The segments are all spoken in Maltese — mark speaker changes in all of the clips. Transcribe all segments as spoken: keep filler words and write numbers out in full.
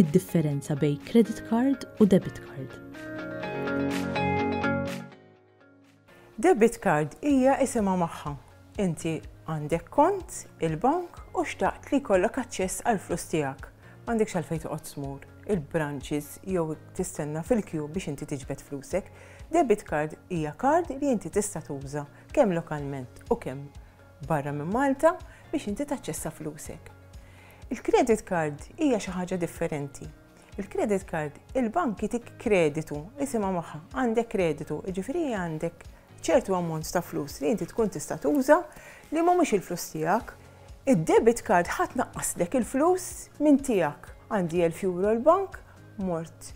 Speaker 1: X'inhi d-differenza bejn credit card u debit card?
Speaker 2: Debit card hija isimha magħha. Inti għandek kont il-bank u xtaqt li jkollok aċċess għal flus tiegħek. M'għandekx għalfejn toqgħod tmur il-branches jew tistenna fil-kju biex inti tiġbed flusek. Debit card hija card li inti tista' tuża kemm lokalment u kemm barra minn Malta biex inti taċċessa flusek. Il-credit card hija xi ħaġa differenti. Il-credit card, il-bank jitik kreditu, isimha magħha, għandek kreditu, jiġifieri għandek ċertu ammont ta' flus li inti tkun tista' tuża li mhumiex il-flus tiegħek. Id-debit card ħadd naqqaslek il-flus minn tiegħek. Għandi elf euro l-bank, mort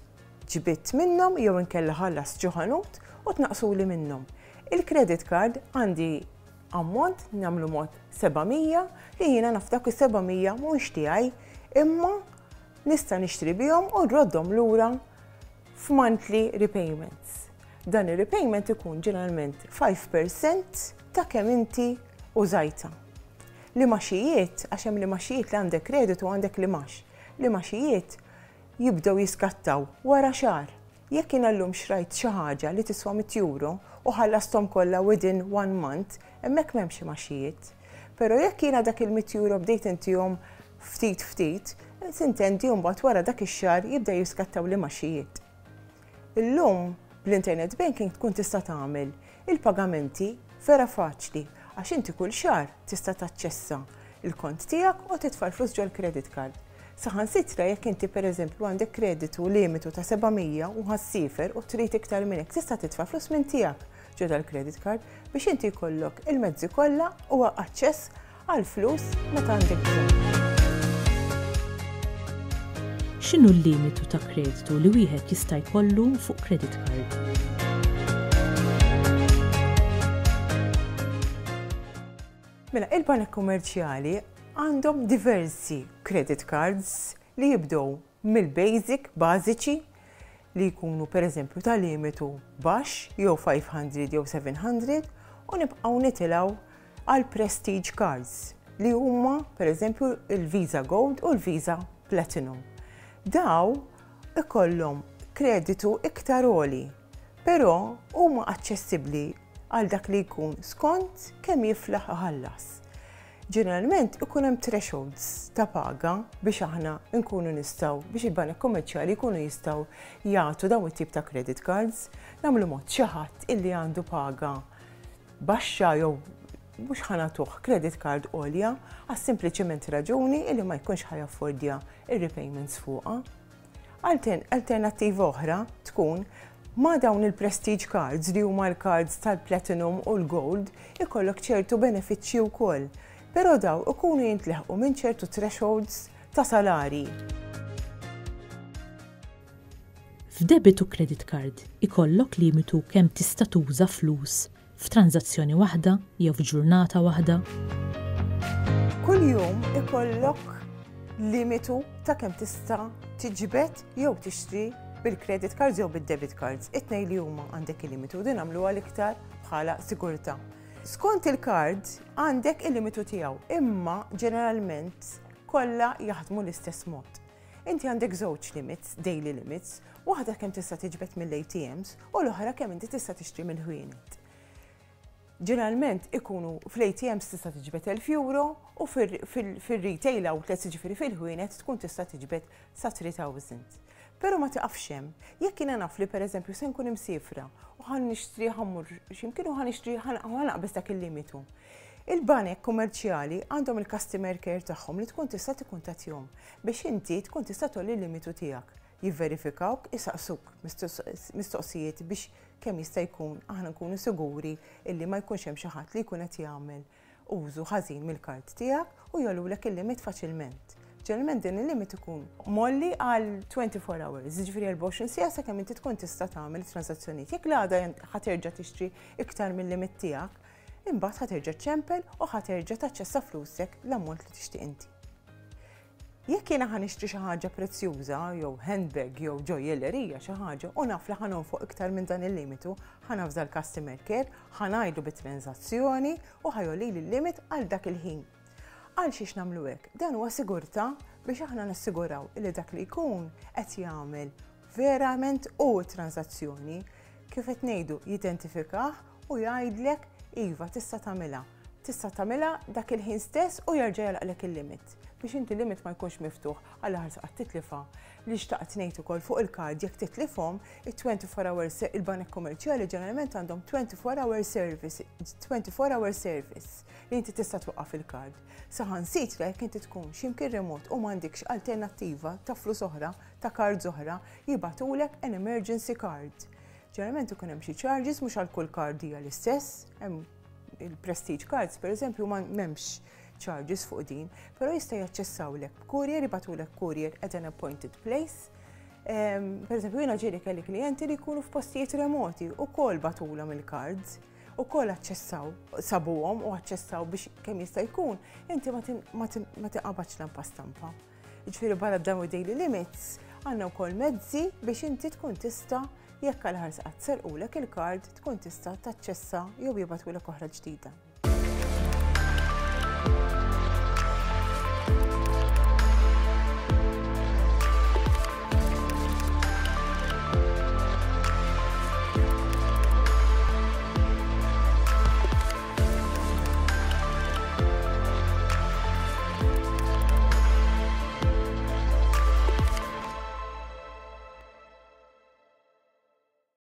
Speaker 2: ġbidt minnhom jew inkella ħallas ġo ħanut u tnaqsuli minnhom. Il-credit card għandi ammont, nagħmlu mod seba' mija, li jiena naf dak is-seba' mija mhux tiegħi, imma nista' nixtri bihom u nroddhom lura f'monthly repayments. Dan ir-repayment ikun ġeneralment five percent ta' kemm inti użajta. L-imgħaxijiet, għax hemm l-imgħaxijiet li għandek kreditu, għandek l-imgħax. L-imgħaxijiet jibdew jiskattaw wara xahar. Jekk jiena llum xrajt xi ħaġa li tiswa mitt euro u ħallasthom kollha within one month, hemmhekk m'hemmx imgħaxijiet. Però jekk jiena dak il-mitt euro bdejt intihom ftit ftit, sintendi mbagħad wara dak ix-xahar jibda jiskattaw l-imgħaxijiet. Illum bl-internet banking tkun tista' tagħmel il-pagamenti vera faċli, għax inti kull xahar tista' taċċessa il-kont tiegħek u titfa' l-flus ġol credit card. Saħansitra jekk inti, pereżempju, għandek kreditu limitu ta' seba' mija u ħa ssiefer u trid iktar minn hekk, tista' titfa' flus minn tiegħek ġo dal-credit card biex inti jkollok il-mezzi kollha u aċċess għal flus meta għandek bżonn.
Speaker 1: X'inhu l-limitu ta' kreditu li wieħed jista' jkollu fuq credit card?
Speaker 2: Mela, il-banek kummerċjali għandhom diversi credit cards li jibdew mill-basic, bażiċi, li jkunu pereżempju ta' limitu baxx, jew five hundred jew seven hundred, u nibqgħu nitilgħu għal prestige cards li huma pereżempju il-Visa Gold u l-Visa Platinum. Daw ikollhom kreditu iktar għoli, però huma aċċessibbli għal dak li jkun skont kemm jiflaħ iħallas. Ġeneralment ikun hemm thresholds ta' paga biex aħna nkunu nistgħu, biex il-banek kummerċjali jkunu jistgħu jagħtu dawn it-tip ta' credit cards. Nagħmlu mod, xi ħadd illi għandu paga baxxa jew mhux ħa nagħtuh credit card għolja, għas sempliċement raġuni illi ma jkunx ħa jaffordja ir-repayments fuqha. Alternattiva oħra tkun ma' dawn il-prestige cards, li huma l-cards tal-platinum u l-gold, ikollok ċertu benefiċċji wkoll. Però daw ikunu jintleħqu minn ċertu thresholds ta' salari.
Speaker 1: F'debit u credit card ikollok limitu kemm tista' tuża flus f'tranżazzjoni waħda jew f'ġurnata waħda?
Speaker 2: Kull jum ikollok limitu ta' kemm tista' tiġbed jew tixtri bil-credit cards jew bil-debit cards. It-tnejn li huma għandek il-limitu, din għamlu għal-iktar bħala sigurtà. Skont il-card għandek il-limitu tiegħu, imma ġeneralment kollha jaħdmu l-istess mod. Inti għandek żewġ limits, daily limits, waħda kemm tista' tiġbed mill-A T Ms u l-oħra kemm inti tista' tixtri mill-ħwienet. Ġeneralment ikunu fl-A T Ms tista' tiġbed elf euro u fil-retail outlets, ġifieri fil-ħwienet, tkun tista' tiġbed sa tliet elef. Però ma tiqafx hemm. Jekk jiena naf li, pereżempju, se nkun imsifra u ħa nixtri, ħa mmur x'imkien u ħa nixtri, ħa naqbeż dak il-limitu. Il-banek kummerċjali għandhom il-customer care tagħhom li tkun tista' tikkuntattjahom biex inti tkun tista' tgħolli l-limitu tiegħek. Jivverifikawk, isaqsuk mistoqsijiet biex kemm jista' jkun aħna nkunu siguri illi ma jkunx hemm xi ħadd li jkun qed jagħmel użu ħażin mill-kard tiegħek u jogħlulek il-limit faċilment. Ġeneralment din il-limit ikun mgħolli għal twenty-four hours, ġifieri erbgħa u għoxrin siegħa, sakemm inti tkun tista' tagħmel transazzjonijiet. Jekk l-għada ħa terġa' tixtri iktar mill-limit tiegħek, imbagħad ħa terġa' ċempel u ħa terġa' taċċessa flusek l-ammont li tixtieq inti. Jekk jiena ħa nixtri xi ħaġa prezzjuża jew handbag jew ġojjellerija, xi ħaġa, u naf li ħa nonfoq iktar minn dan il-limitu, ħa navża l-customer care, ħa ngħidu bit-transazzjoni u ħa jgħollili l-limit għal dak il-ħin. Għal xiex nagħmlu hekk? Dan huwa sigurtà Biex aħna nassiguraw li dak li jkun qed jagħmel verament u transazzjoni, kif qed ngħidu, jidentifikah u jgħidlek iva, tista' tagħmilha. Tista' tagħmilha dak il-ħin stess u jerġa' jagħlaqlek il-limit biex inti limit ma jkunx miftuħ għal ħarsa qatt titlifa. Li xtaqt ngħid ukoll fuq il-kard, jekk titlifhom, it-twenty-four hour, il-banek kummerċjali ġeneralment għandhom twenty-four hour service, twenty-four hour service li inti tista' twaqqaf il-kard. Saħansitra jekk inti tkun x'imkien remot u m'għandikx alternattiva ta' flus oħra, ta' cards oħra, jibagħtulek an emergency card. Ġeneralment ikun hemm xi charges, mhux għal kull card hija l-istess, hemm il-prestige cards per eżempju ma m'hemmx charges fuq din, però jista' jaċċessawlek courier, jibagħtulek courier at an appointed place. Per eżempju, jiena ġieli kelli klijenti li jkunu f'postijiet remoti u kol bagħtulhom il-cards, u kol aċċessaw, sabuhom u aċċessaw biex kemm jista' jkun, inti ma tinqabadx lampa stampa. Jiġifieri barra dawn daily limits, għandna wkoll mezzi biex inti tkun tista', jekk għal ħarsa qatt serqulek il-kard, tkun tista' taċċessa jew jibagħtulek oħra ġdida.